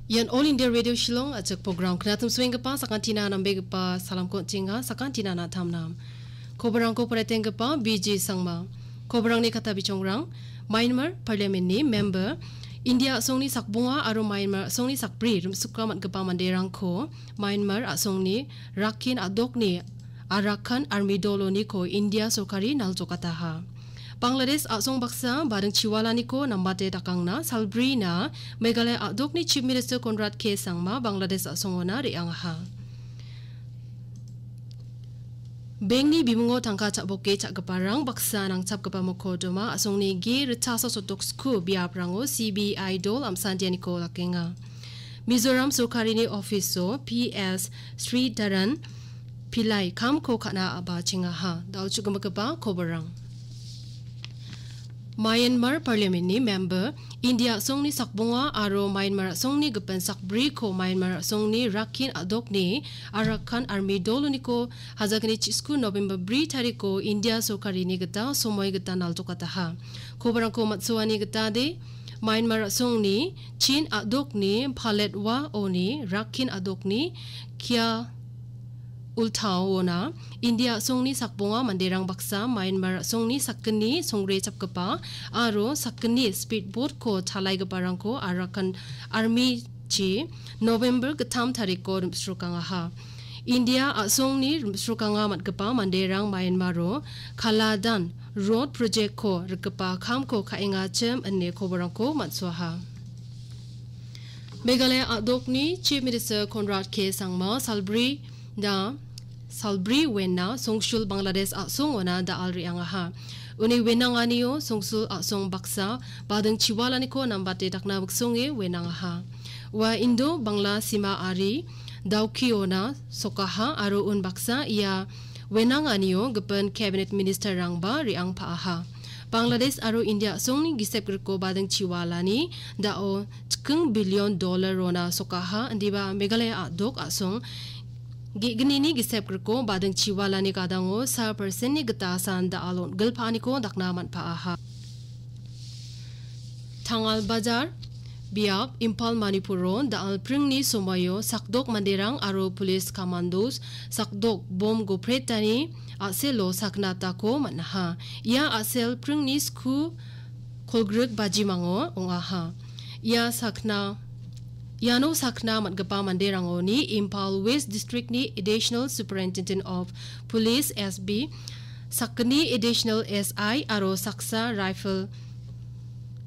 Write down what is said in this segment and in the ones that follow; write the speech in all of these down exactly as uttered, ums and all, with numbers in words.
Ian All India Radio Shillong, a·chik program knatim suenggipa sakantina nambegipa salamko on·chenga, sakantina na·tamnam. Koborangko poraitenggipa B J Sangma. Koborangni kata bichongrang, Myanmar Parliament-ni member, India a·songni sakbonga aro Myanmar a·songni sakbri rimsukra man·gipa manderangko Myanmar a·songni Rakhine a·dokni Arakan Army doloniko India sorkari naljokataha. Bangladesh a·song baksa bading chiwalaniko nambate dakangna salbrina Meghalaya a·dokni Chief Minister Conrad K Sangma Bangladesh a·songona re·angaha. Bengni bimungo tangka cha·boke cha·giparang baksa nangchapgipa mokoddoma a·songni ge ritchasa sotok sku biaprango C B I dol amsantianiko dakenga. Mizoram sorkarini ofiso P S Sridharan Pillai kamko ka·na a·bachengaha. Da·o chu·gimikgipa koborang. Myanmar Parliament-ni member, India a·songni sakbonga aro Myanmar a·songni gipin sakbriko Myanmar a·songni Rakhine a·dokni Arakan Army doloniko hajalgni chisku November bri tariko India sorkarini gita somoi gita naljokataha. Koborangko matsoani gitade, Myanmar a·songni Chin a·dokni Paletwa oni Rakhine a·dokni Kia Ultaona India a·songni sakbonga manderang baksa Myanmar a·songni sakgni songre chapgipa aro sakgni speedboat-ko chalaigiparangko Arakan Army-chi November gittam tariko rimsrokangaha. India a·songni rimsrokanga man·gipa manderang Myanmaro Kaladan Road Project-ko rikgipa kamko ka·engachim ine koborangko man·soaha. Meghalaya a·dokni Chief Minister Conrad K Sangma salbri da salbri wena songsul Bangladesh a·songona da·al re·angaha. Uni wenanganio songsul a·song baksa bading chiwalaniko nambate dakna wiksonge wenangaha. Ua Indo Bangla sima ari Dawkiona sokaha aro unbaksa ia wenanganio gipin cabinet ministerrangba re·angpa·aha. Bangladesh aro India a·songni gisep griko bading chiwalani da·o chiking billion dollar rona sokaha, indiba Meghalaya a·dok a·song ge·gnini gisep griko bading chiwalani gadango sa percent-ni gita san da·al on·gilpa·aniko dakna man·pa·aha. Tangal Bajar biap Imphal Manipuro da·al pringni somoio sakdok manderang aro police commandos sakdok bom gopretani a·selo sakna atako man·aha. Ia a·sel pringni sku kolgrik bajimango ong·aha. Ia sakna, iano sakna man·gipa manderangoni Imphal West District-ni Additional Superintendent of Police, S B, sakgni Additional S I aro saksa rifle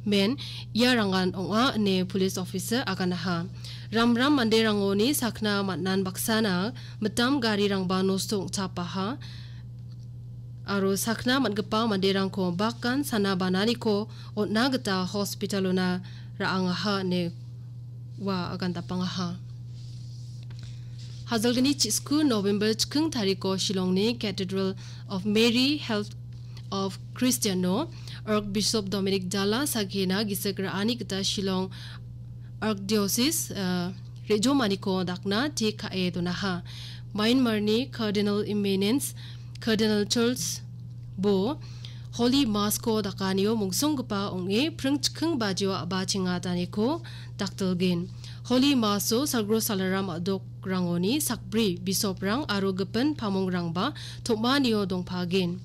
men iarangan ong·a ine police officer aganaha. Ramram manderangoni sakna man·an baksana mitam garirangba nosto ong·chapaha aro sakna man·gipa manderangko bakan sana bananiko on·na gita hospitalona ra·angaha ine ua agandapangaha. Hajalgni chisku November chiking tariko Shillongni Cathedral of Mary Health of Christiano Archbishop Dominic Dala sakgina gisik ra·ani gita Shillong Archdiocese, eh, re·jomaniko dakna tik ka·e donaha. Myanmarni Cardinal Eminence Cardinal Charles Bo Holy Mass-ko dakanio mongsonggipa ong·e pring chiking bajio a·bachengataniko dakdilgen. Holy Mass-o salgro salaram a·dokrangoni sakbri bisoprang aro gipin pamongrangba tom·anio dongpagen.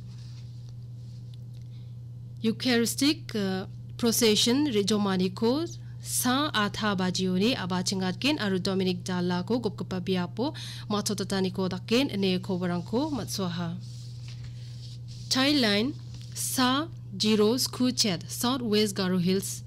Eucharistic, eh, Procession re·jomaniko sa atha bajioni a·bachengatgen aro Dominic Dalako gopgipa biapo matchotataniko dakgen ine koborangko matsoaha. Child Line sa jiro skuchet South West Garo Hills,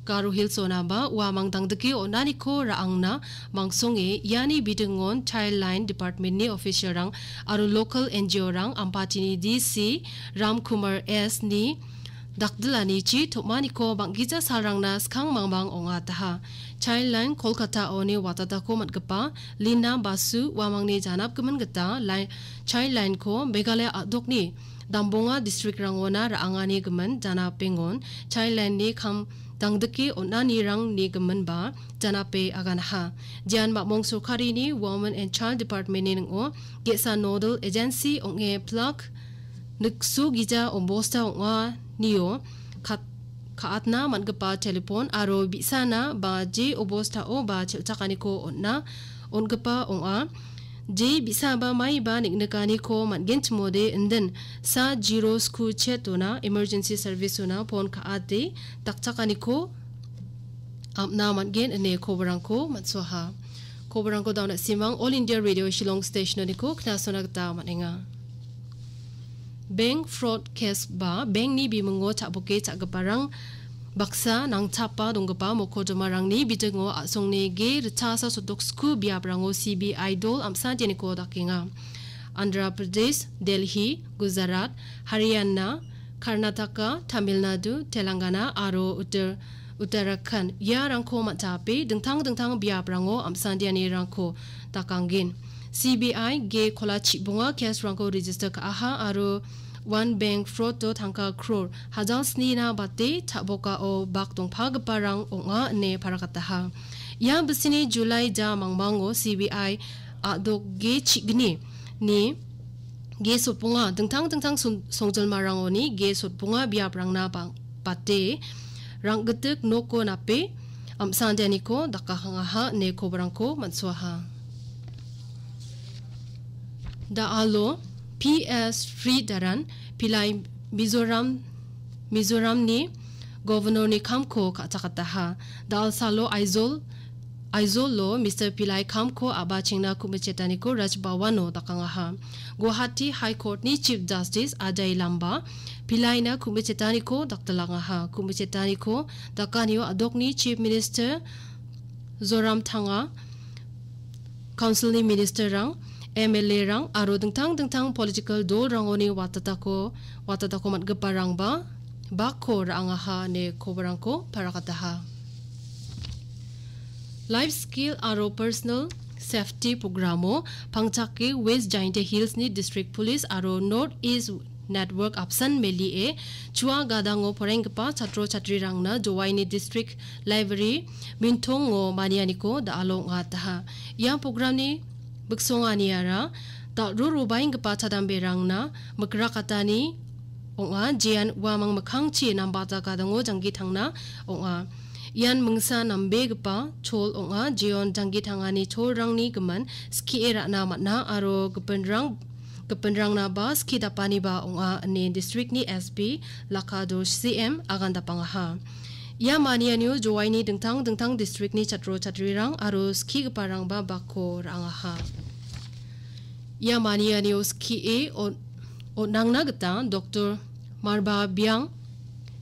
Garo Hills-onaba uamang dangdike on·aniko ra·angna mangsonge iani bidingon Child Line Department-ni official-rang aro local N G O-rang Ampatini D C Ram Kumar S-ni dakdilanichi tom·aniko bang·gija salrangna skang mangmang ong·ataha. Child Line Kolkata-oni watatako man·gipa Lina Basu uamangni janapgimin gita Li-, Child Line-ko Meghalaya a·dokni dambonga district-rangona ra·angani gimin janapengon Child Line-ni kam dangdike on·anirangni giminba janape aganaha. Jian mamong sorkarini Women and Child Department-ni ning·o ge·sa nodal agency ong·e plak nikso gija ombosta ong·anio kat-, ka·atna man·gipa telefon aro bi·sana ba je obostao ba chelchakaniko on·na on·gipa ong·a. Je bi·saba maiba neng·nikaniko man·genchimode indin sa zero sku chet ona emergency service ona pon ka·ate dakchakaniko am·na man·gen ine koborangko man·soaha. Koborangko dauna simang All India Radio Shillong Station-oniko knasona gita man·enga. Bank fraud case ba bankni bimingo cha·boke cha·giparang baksa nangchapa donggipa mokodomarangni bidingo a·songni ge ritchasa sotoksko biaprango C B I dol amsantianiko dakenga. Andhra Pradesh, Delhi, Gujarat, Haryana, Karnataka, Tamil Nadu, Telangana aro Uttar-, Uttarakhand iarangko man·jape dingtang dingtang biaprango amsandianirangko dakanggen. C B I ge kola chibonga case-rangko register ka·aha aro One Bank fraud-o tangka crore hajal snina bate cha·bokao bak dongpagiparang ong·a ine parakataha. Ia bisini July ja mangmango C B I a·dok ge chigni ni ge sotbonga dingtang dingtang son-, songjilmarangoni ge sotbonga biaprangna bang-, bate rang·gitik noko nape am·sandianiko dakahangaha ine koborangko man·soaha. Da·alo P S Sridharan Pillai Mizoram, Mizoramni Governorni kamko ka·chakataha. Da·alsalo Aizawl, Aizawl-o Mister Pillai kamko a·bachengna ku·michetaniko Raj Bhavan-o dakangaha. Guwahati High Court-ni Chief Justice Ajay Lamba Pillaina ku·michetaniko dakdalangaha. Ku·michetaniko dakanio a·dokni Chief Minister Zoramthanga, Council-ni minister-rang, M L A-rang aro dingtang dingtang political dolrangoni watatako, watatako man·giparangba bakko ra·angaha ine koborangko parakataha. Life Skill aro Personal Safety Programo pangchake West Jaintia Hills-ni District Police aro North East Network apsan melie chua gadango porenggipa chatro chatrirangna Jowaini District Library mintongo manianiko da·alo ong·ataha. Ia programni biksonganiara dal·ro robaenggipa chadamberangna mikrakatani ong·a, jean uamang mikkangchi nambata gadango janggi tangna ong·a. Ian mingsa nambegipa chol ong·a, jeon janggi tangani cholrangni gimin skie ra·na man·a aro gipinrang, gipinrangnaba skie dapaniba ong·a, ine districtni S P Lakado C M agandapangaha. Ia manianio Jowaini dingtang dingtang districtni chatro chatrirang aro skigiparangba bakko ra·angaha. Ia manianio skie on-, on·angna gita Doktor Marba Biang,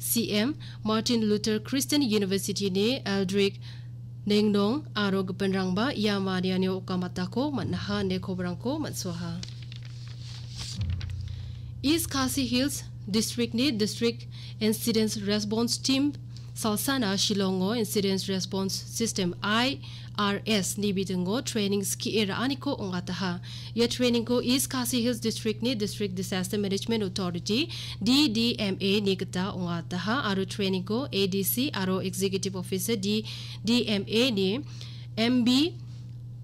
C M, Martin Luther Christian University-ni Eldrick Nengnong aro gipinrangba ia manianio okamatako man·aha ine koborangko man·soaha. East Khasi Hills District-ni District Incident Response Team salsana Shillongo Incident Response System, I R S ni bidingo training skie ra·aniko ong·ataha. Ia trainingko East Khasi Hills District-ni District Disaster Management Authority, D D M A ni gita ong·ataha aro trainingko A D C aro Executive Officer D D M A ni M B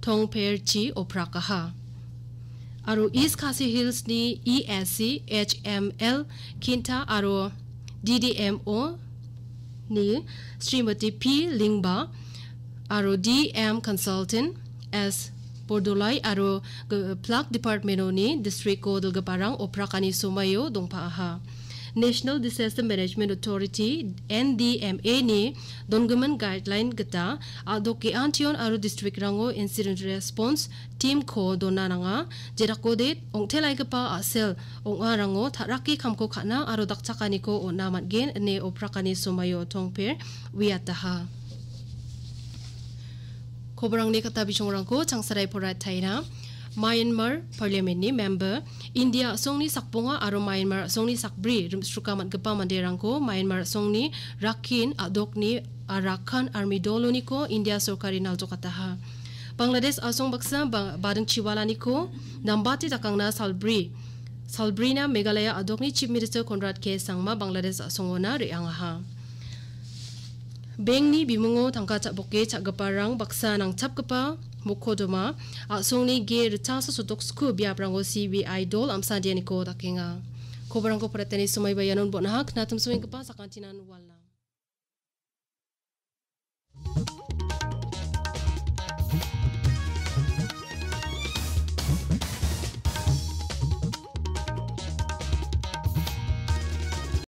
Tongperchi oprakaha. Aro East Khasi Hills-ni E S C H M L Kinta aro D D M O ni Srimati P Lingba aro D M Consultant S Bordolai aro ge-, Plak Department-oni district-o dilgiparang oprakani somaio dongpaaha. National Disaster Management Authority, N D M A ni dongimin guideline gita a·dok ge·antion aro district-rango incident response team-ko dona nanga. Jedakode ong·telaigipa a·sel ong·arango ta·rake kamko ka·na aro dakchakaniko on·a man·gen ine oprakani somaio Tongper uiataha. Koborangni kata bisongrangko changsarai poraiatna. Myanmar Parliament-ni member, India a·songni sakbonga aro Myanmar a·songni sakbri rimsruka man·gipa manderangko Myanmar a·songni Rakhine a·dokni Arakan Army doloniko India sorkari naljokataha. Bangladesh a·song baksa ba-, badingchiwalaniko nambate dakangna salbri, salbrina Meghalaya a·dokni Chief Minister Conrad K Sangma Bangladesh a·songona re·angaha. Bankni bimungo tangka cha·boke cha·giparang baksa nangchapgipa mokodoma a·songni ge ritchasa sotoksko biaprango C B I dol amsandianiko dakenga. Koborangko poretani somaiba ianon bon·aha, knatim soenggipa sakantinan walna.